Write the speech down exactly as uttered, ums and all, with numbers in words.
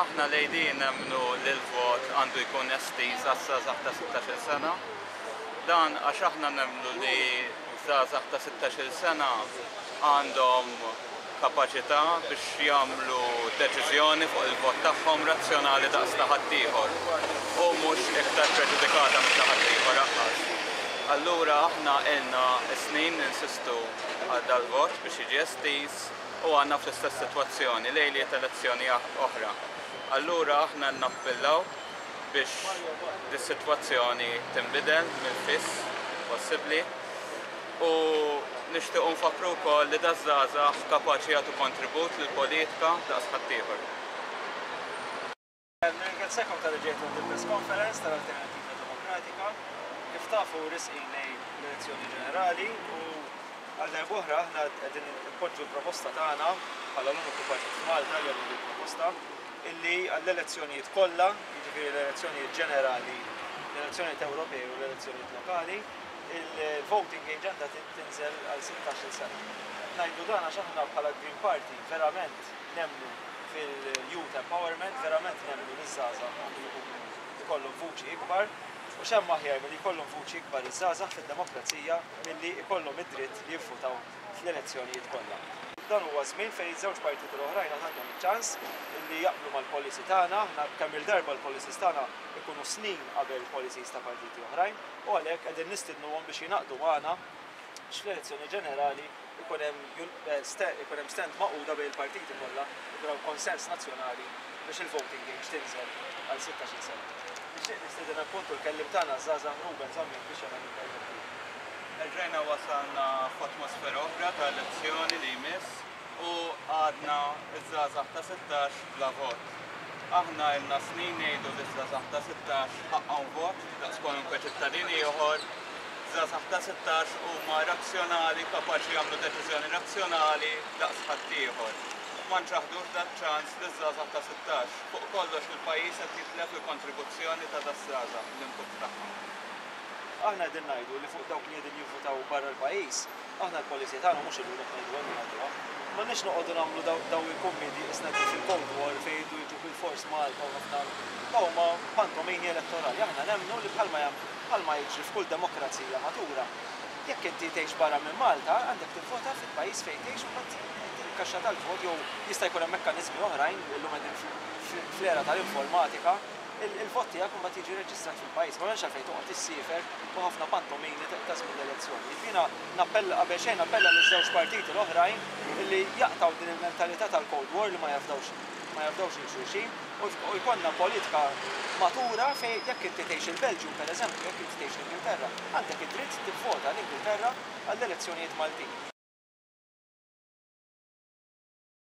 Aħna l-A D nemmnu li l-vot għandu jkun estiż għaż-żgħażagħ ta' sittax-il sena. Dan għax aħna nemmnu li żgħażagħ ta' sittax-il sena għandhom kapaċità biex jagħmlu deċiżjoni fuq il-vot tagħhom razzjonali daqs ta' ħaddieħor u mhux iktar preġudikata minn ta' ħaddieħor anqas. Allura aħna ilna snin ninsistu għal dal-vot biex jiġi estiż u għadna fl-istess sitwazzjoni lejliet elezzjoni oħra. Allura aħna nappellaw biex dis-sitwazzjoni tinbidel mill-fis possibbli u nixtiequ nfakru wkoll li daż-żgħażagħ kapaċi jagħtu kontribut lill-politika daqs ħaddieħor. Nirringrazzjakom talli ġejtu għand il-press conference tal-Alternativa Demokratika. Kif tafu, resqin lejn l-elezzjoni ġenerali u għal darb'oħra aħna qegħdin npoġġu l-proposta tagħna bħala l-uniku partit f'Malta li għandu proposta illi għall-elezzjonijiet kollha, jiġifieri l-elezzjonijiet ġenerali, l-elezzjonijiet Ewropej u l-elezzjonijiet lokali, il-voting age għandha tinżel għal sittax-il sena. Ngħidu dan għax aħna bħala Green Party verament nemmnu fil-youth empowerment, verament nemmnu li żgħażagħ għandu jkollhom vuċi ikbar u x'hemm aħjar milli jkollhom vuċi ikbar iż-żgħażagħ fid-demokrazija milli jkollhom id-dritt li jivvutaw fl-elezzjonijiet kollha? Dan huwa żmien fejn iż-żewġ partiti l-oħrajn għandhom iċ-ċans li jaqblu mal-policy tagħna. Aħna kemm il-darba l-policies tagħna ikunu snin qabel policies ta' partiti oħrajn u għalhekk qegħdin nistidnuhom biex jingħaqdu magħna biex fl-elezzjoni ġenerali ikun hemm ikun hemm stand magħquda bejn il-partiti kollha, ikun hemm konsens nazzjonali biex il-voting age tinżel għal sittax-il sena. Nixtieq nistieden appuntu l-kelliem tagħna żgħażagħ Ruben Zammit biex jagħmel intervent. Erġajna wasalna f'atmosfera oħra ta' elezzjoni li jmiss u għadna iż-żgħażagħ ta' sittax bla vot. Aħna ilna snin ngħidu li żgħażagħ ta' sittax ħaqqhom vot daqs kwalunkwe ċittadin ieħor. Żgħażagħ ta' sittax huma razzjonali, kapaċi jagħmlu deċiżjoni razzjonali daqs ħaddieħor. Ma nċaħdux dat ċans li żgħażagħ ta' sittax. Fuq kollox, il-pajjiż qed jitlef il-kontribuzzjoni ta' daż-żgħażagħ, l-input tagħhom. Aħna qegħdin ngħidu li fuq dawk li qegħdin jivvutaw barra l-pajjiż, aħna l-policy tagħna mhux illum qed ngħidu, għandna ngħiduha. M'għandniex noqogħdu nagħmlu daw il-kummedi isna fil-Cold War fejn jridu jiġu bil-fors Malta u ħafna daw ma pantomini elettorali. Aħna nemmnu li bħalma jam bħalma jiġri f'kull demokrazija matura. Jekk inti tgħix barra minn Malta, għandek tivvota fil-pajjiż fejn tgħix u mbagħad il-kaxxa tal-vot jew jista' jkun hemm mekkaniżmi oħrajn, illum qegħdin fl-era tal-informatika, il-vot tiegħek mbagħad jiġi reġistrat fil-pajjiż. Ma hemmx għalfejn toqgħod issiefer u ħafna pantomini ta' żmien l-elezzjoni. Jiena nappella, qabel xejn nappella liż-żewġ partiti l-oħrajn illi jaqtgħu din il-mentalità tal-Cold War li ma jafdawx ma jafdawx lil xulxin u jkollna politika matura fejn jekk inti tgħix il-Belġju, pereżempju, jekk inti tgħix l-Ingilterra, għandek id-dritt tivvota l-Ingilterra għall-elezzjonijiet Maltin.